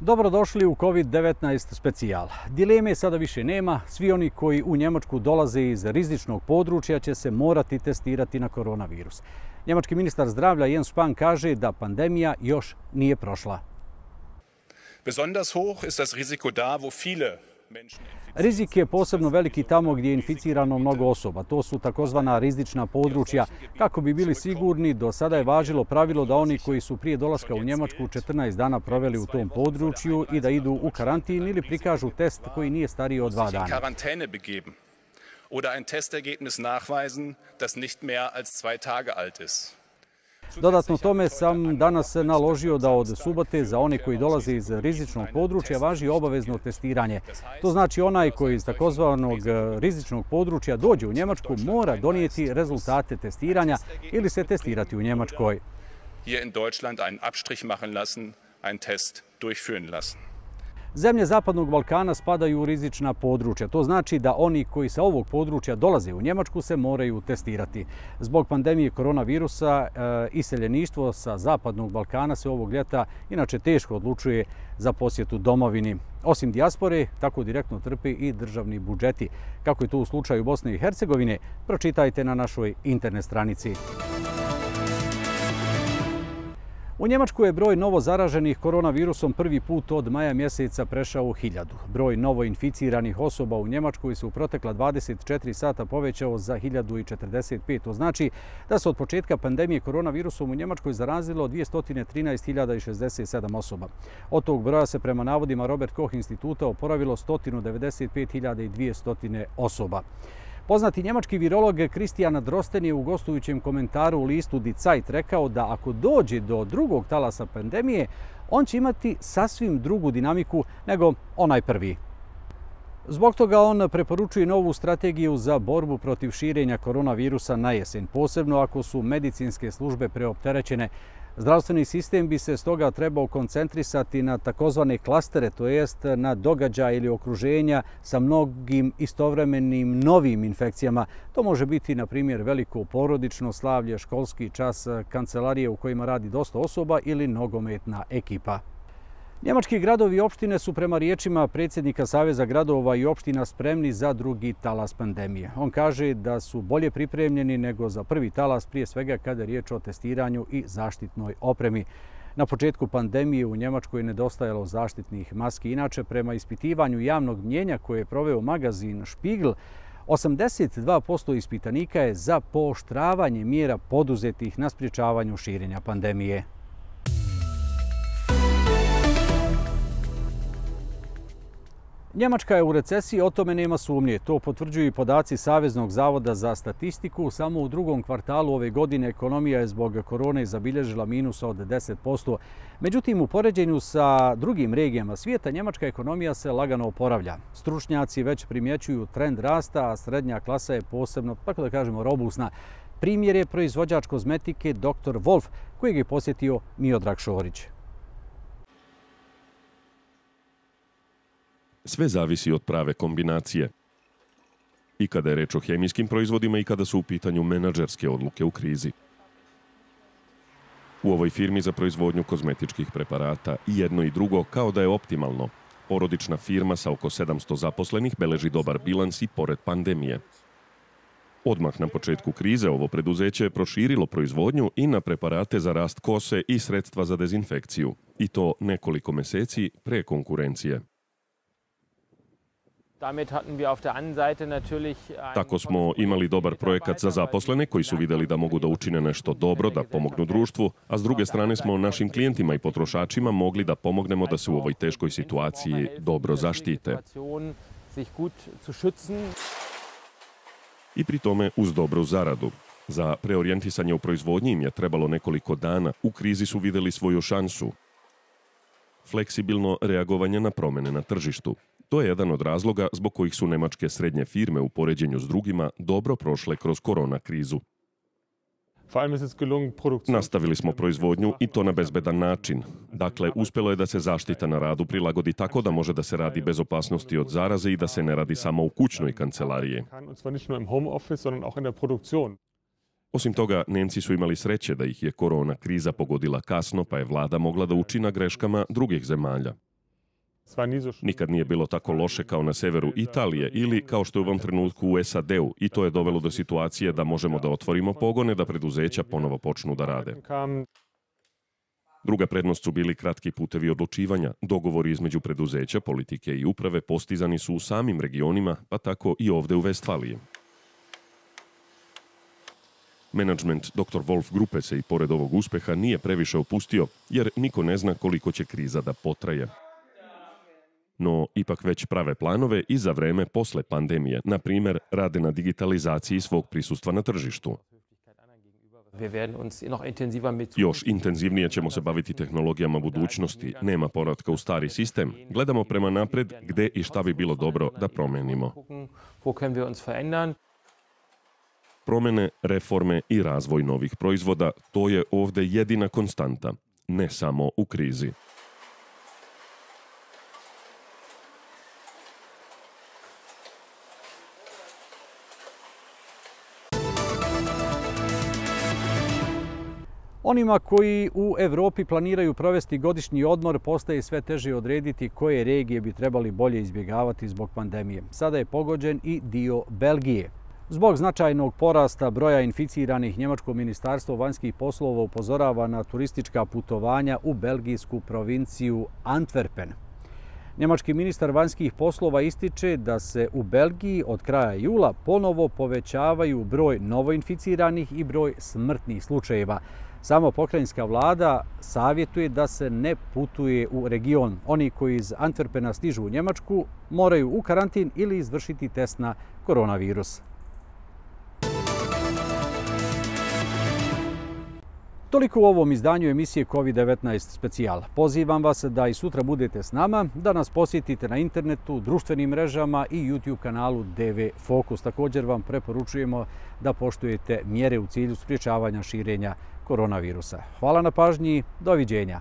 Dobrodošli u COVID-19 specijal. Dileme sada više nema. Svi oni koji u Njemačku dolaze iz rizičnog područja će se morati testirati na koronavirus. Njemački ministar zdravlja Jens Spahn kaže da pandemija još nije prošla. Besonders hoch ist das Risiko da, wo viele Rizik je posebno veliki tamo gdje je inficirano mnogo osoba. To su takozvana rizična područja. Kako bi bili sigurni, do sada je važilo pravilo da oni koji su prije dolaska u Njemačku 14 dana proveli u tom području i da idu u karantin ili prikažu test koji nije stariji od 2 dana. Oder ein Testergebnis nachweisen, das nicht mehr als 2 Tage alt ist. Dodatno tome sam danas naložio da od subote za one koji dolaze iz rizičnog područja važi obavezno testiranje. To znači onaj koji iz takozvanog rizičnog područja dođe u Njemačku mora donijeti rezultate testiranja ili se testirati u Njemačkoj. Hier in Deutschland einen Abstrich machen lassen, einen Test durchführen lassen. Zemlje Zapadnog Balkana spadaju u rizična područja. To znači da oni koji sa ovog područja dolaze u Njemačku se moraju testirati. Zbog pandemije koronavirusa iseljeništvo sa Zapadnog Balkana se ovog ljeta inače teško odlučuje za posjetu domovini. Osim dijaspore, tako direktno trpi i državni budžeti. Kako je to u slučaju Bosne i Hercegovine, pročitajte na našoj internet stranici. U Njemačku je broj novo zaraženih koronavirusom prvi put od maja mjeseca prešao 1000. Broj novo inficiranih osoba u Njemačkoj se u protekla 24 sata povećao za 1045. To znači da se od početka pandemije koronavirusom u Njemačkoj zarazilo 213.067 osoba. Od tog broja se prema navodima Robert Koch instituta oporavilo 195.200 osoba. Poznati njemački virolog Christian Drosten je u gostujućem komentaru u listu Die Zeit rekao da ako dođe do drugog talasa pandemije, on će imati sasvim drugu dinamiku nego onaj prvi. Zbog toga on preporučuje novu strategiju za borbu protiv širenja koronavirusa na jesen, posebno ako su medicinske službe preopterećene. Zdravstveni sistem bi se stoga trebao koncentrisati na takozvane klastere, to jest na događaje ili okruženja sa mnogim istovremenim novim infekcijama. To može biti, na primjer, veliko porodično slavlje, školski čas, kancelarije u kojima radi dosta osoba ili nogometna ekipa. Njemački gradovi i opštine su prema riječima predsjednika Saveza gradova i opština spremni za drugi talas pandemije. On kaže da su bolje pripremljeni nego za prvi talas, prije svega kada je riječ o testiranju i zaštitnoj opremi. Na početku pandemije u Njemačkoj je nedostajalo zaštitnih maski. Inače, prema ispitivanju javnog mnjenja koje je proveo magazin Spiegel, 82% ispitanika je za pooštravanje mjera poduzetih na sprječavanju širenja pandemije. Njemačka je u recesiji, o tome nema sumnje. To potvrđuju i podaci Saveznog zavoda za statistiku. Samo u drugom kvartalu ove godine ekonomija je zbog korone zabilježila minus od 10%. Međutim, u poređenju sa drugim regijama svijeta, njemačka ekonomija se lagano oporavlja. Stručnjaci već primjećuju trend rasta, a srednja klasa je posebno, tako da kažemo, robusna. Primjer je proizvođač kozmetike Dr. Wolf, kojeg je posjetio Miodrag Šorić. Sve zavisi od prave kombinacije. I kada je reč o hemijskim proizvodima i kada su u pitanju menadžerske odluke u krizi. U ovoj firmi za proizvodnju kozmetičkih preparata i jedno i drugo kao da je optimalno. Porodična firma sa oko 700 zaposlenih beleži dobar bilans i pored pandemije. Odmah na početku krize ovo preduzeće je proširilo proizvodnju i na preparate za rast kose i sredstva za dezinfekciju. I to nekoliko mjeseci pre konkurencije. Tako smo imali dobar projekat za zaposlene koji su vidjeli da mogu da učine nešto dobro, da pomognu društvu, a s druge strane smo našim klijentima i potrošačima mogli da pomognemo da se u ovoj teškoj situaciji dobro zaštite. I pri tome uz dobru zaradu. Za preorijentisanje u proizvodnji im je trebalo nekoliko dana. U krizi su vidjeli svoju šansu. Fleksibilno reagovanje na promjene na tržištu. To je jedan od razloga zbog kojih su nemačke srednje firme u poređenju s drugima dobro prošle kroz korona krizu. Nastavili smo proizvodnju i to na bezbedan način. Dakle, uspjelo je da se zaštita na radu prilagodi tako da može da se radi bez opasnosti od zaraze i da se ne radi samo u kućnoj kancelariji. Osim toga, Nemci su imali sreće da ih je korona kriza pogodila kasno, pa je vlada mogla da uči na greškama drugih zemalja. Nikad nije bilo tako loše kao na severu Italije ili kao što je u ovom trenutku u SAD-u i to je dovelo do situacije da možemo da otvorimo pogone, da preduzeća ponovo počnu da rade. Druga prednost su bili kratki putevi odlučivanja. Dogovori između preduzeća, politike i uprave postizani su u samim regionima, pa tako i ovde u Vestfaliji. Menadžment Dr. Wolf grupe se i pored ovog uspeha nije previše opustio, jer niko ne zna koliko će kriza da potraje. No, ipak već prave planove i za vreme posle pandemije. Na primjer, rade na digitalizaciji svog prisustva na tržištu. Još intenzivnije ćemo se baviti tehnologijama budućnosti. Nema povratka u stari sistem. Gledamo prema napred gde i šta bi bilo dobro da promenimo. Promene, reforme i razvoj novih proizvoda, to je ovde jedina konstanta, ne samo u krizi. Onima koji u Evropi planiraju provesti godišnji odmor postaje sve teže odrediti koje regije bi trebali bolje izbjegavati zbog pandemije. Sada je pogođen i dio Belgije. Zbog značajnog porasta broja inficiranih, njemačko ministarstvo vanjskih poslova upozorava na turistička putovanja u belgijsku provinciju Antwerpen. Njemački ministar vanjskih poslova ističe da se u Belgiji od kraja jula ponovo povećavaju broj novoinficiranih i broj smrtnih slučajeva. Samo pokrajinska vlada savjetuje da se ne putuje u region. Oni koji iz Antwerpena stižu u Njemačku moraju u karantin ili izvršiti test na koronavirus. Toliko u ovom izdanju emisije COVID-19 specijal. Pozivam vas da i sutra budete s nama, da nas posjetite na internetu, društvenim mrežama i YouTube kanalu DV Fokus. Također vam preporučujemo da poštujete mjere u cilju sprječavanja širenja koronavirusa. Hvala na pažnji, doviđenja.